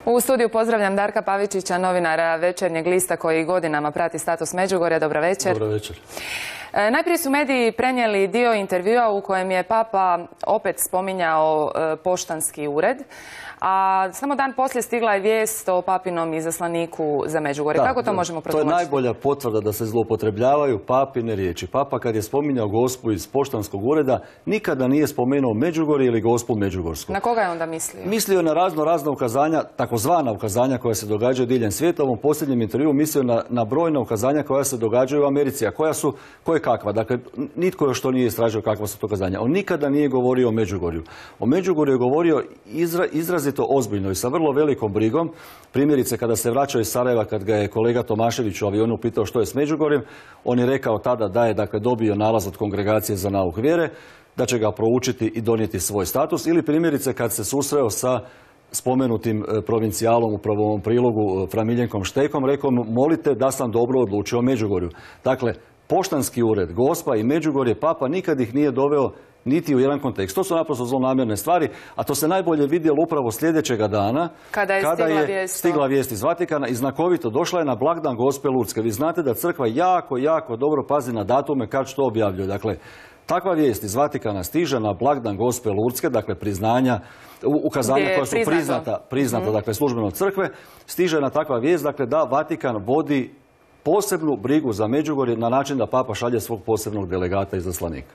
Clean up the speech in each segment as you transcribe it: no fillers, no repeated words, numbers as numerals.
U studiju pozdravljam Darka Pavičića, novinara Večernjeg lista koji godinama prati status Međugorja. Dobro večer. Dobro večer. Najprije su mediji prenijeli dio intervjua u kojem je Papa opet spominjao poštanski ured, a samo dan poslije stigla je vijest o papinom izaslaniku za Međugorje. Kako to možemo protumačiti? To je najbolja potvrda da se zloupotrebljavaju papine riječi. Papa kad je spominjao Gospu iz poštanskog ureda nikada nije spomenuo Međugorje ili Gospu Međugorsku. Na koga je onda mislio? Mislio je na razna ukazanja, takozvana ukazanja koja se događaju diljem svijeta. U ovom posljednjem intervjuu mislio na brojna ukazanja koja se događaju u Americi, a koja su kakva. Dakle, nitko još to nije istražio kakva su to ukazanja. On nikada nije govorio o Međugorju. O Međugorju je govorio izrazito ozbiljno i sa vrlo velikom brigom. Primjerice, kada se vraćao iz Sarajeva, kad ga je kolega Tomašević u avionu pitao što je s Međugorjem, on je rekao tada da je dobio nalaz od Kongregacije za nauk vjere, da će ga proučiti i donijeti svoj status. Ili primjerice kad se susreo sa spomenutim provincijalom u prvom prilogu Fra Miljenkom Štekom, rekao mu molite da sam dobro odlučio o Međugorju. Dakle, poštanski ured, Gospa i Međugorje, Papa nikad ih nije doveo niti u jedan kontekst. To su naprosto zlonamjerne stvari, a to se najbolje vidjelo upravo sljedećega dana kada je stigla vijest iz Vatikana i znakovito došla je na blagdan Gospe Lurdske. Vi znate da crkva jako dobro pazi na datume kad što objavljuje. Dakle, takva vijest iz Vatikana stiže na blagdan Gospe Lurdske, dakle priznanja, ukazanja koja su priznata dakle službeno od crkve, stiže na takva vijest, dakle da Vatikan vodi posebnu brigu za Međugorje na način da Papa šalje svog posebnog delegata i izaslanika.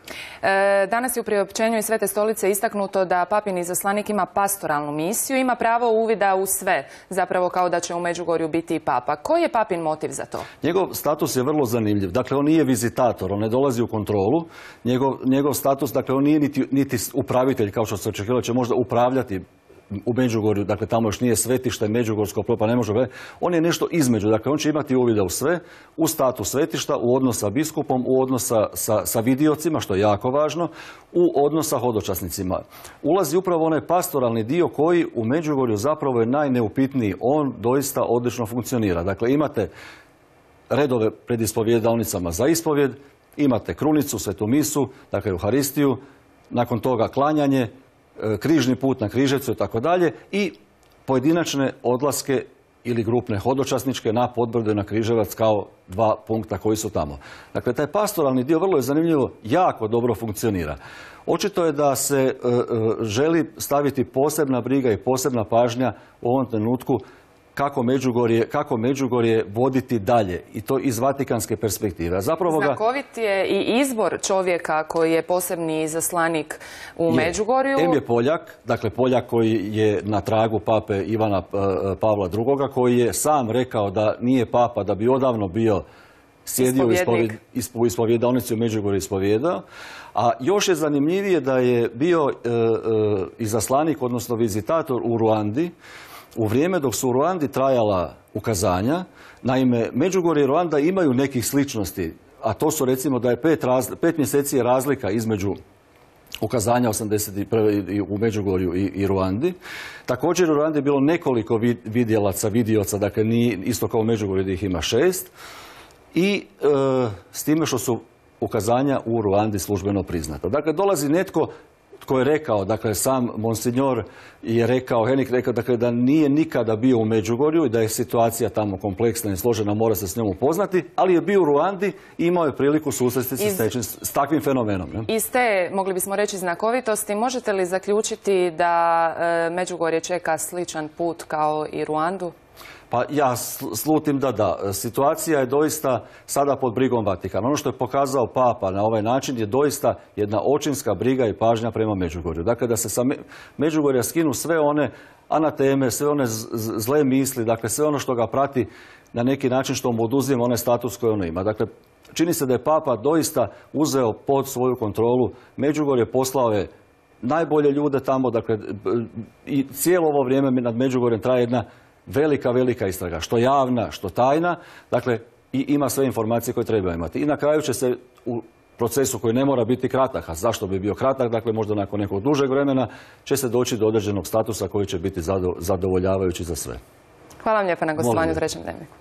Danas je u priopćenju iz Svete stolice istaknuto da papin izaslanik ima pastoralnu misiju, ima pravo uvida u sve, zapravo kao da će u Međugorju biti i Papa. Koji je Papin motiv za to? Njegov status je vrlo zanimljiv. Dakle, on nije vizitator, on ne dolazi u kontrolu. Njegov status, dakle, on nije niti upravitelj, kao što se očekivalo, će možda upravljati u Međugorju, dakle tamo još nije svetište Međugorsko, pa ne može. On je nešto između, dakle on će imati uvida u sve, u status svetišta, u odnos sa biskupom, u odnos sa vidiocima, što je jako važno, u odnos sa hodočasnicima. Ulazi upravo onaj pastoralni dio koji u Međugorju zapravo je najneupitniji. On doista odlično funkcionira. Dakle, imate redove pred ispovjedalnicama za ispovjed, imate krunicu, svetu misu, dakle Euharistiju, nakon toga klanjanje, križni put na Križevcu i tako dalje i pojedinačne odlaske ili grupne hodočasničke na Podbrdo i na Križevac kao dva punkta koji su tamo. Dakle, taj pastoralni dio vrlo je zanimljivo, jako dobro funkcionira. Očito je da se želi posebna briga i posebna pažnja u ovom trenutku kako Međugorje voditi dalje i to iz vatikanske perspektive. Znakovit je i izbor čovjeka koji je posebni izaslanik u Međugorju. Je Poljak, dakle Poljak koji je na tragu pape Ivana Pavla II, koji je sam rekao da nije papa, da bi odavno bio sjedio u ispovjedalnici u Međugorju ispovjedao. A još je zanimljivije da je bio izaslanik, odnosno vizitator u Ruandi, u vrijeme dok su u Ruandi trajala ukazanja. Naime, Međugorje i Ruanda imaju nekih sličnosti, a to su recimo da je 5 mjeseci je razlika između ukazanja 81. u Međugorju i Ruandi. Također u Ruandi je bilo nekoliko vidioca, dakle nije isto kao u Međugorju da ih ima 6. I s time što su ukazanja u Ruandi službeno priznata. Dakle, dolazi netko tko je rekao, dakle sam Monsignor je rekao, Henik rekao, dakle da nije nikada bio u Međugorju i da je situacija tamo kompleksna i složena, mora se s njom upoznati, ali je bio u Ruandi i imao je priliku susresti se s takvim fenomenom. Iz te, mogli bismo reći, znakovitosti, možete li zaključiti da Međugorje čeka sličan put kao i Ruandu? Pa ja slutim da. Situacija je doista sada pod brigom Vatikana. Ono što je pokazao Papa na ovaj način je doista jedna očinska briga i pažnja prema Međugorju. Dakle, da se sa Međugorja skinu sve one anateme, sve one zle misli, dakle sve ono što ga prati na neki način što mu oduzima onaj status koji ono ima. Dakle, čini se da je Papa doista uzeo pod svoju kontrolu Međugorje, poslao je najbolje ljude tamo, dakle i cijelo ovo vrijeme nad Međugorjem traje jedna velika istraga, što javna, što tajna, dakle i ima sve informacije koje treba imati. I na kraju će se u procesu koji ne mora biti kratak, a zašto bi bio kratak, dakle možda nakon nekog dužeg vremena će se doći do određenog statusa koji će biti zadovoljavajući za sve. Hvala vam lijepa na gostovanju u Trećem dnevniku.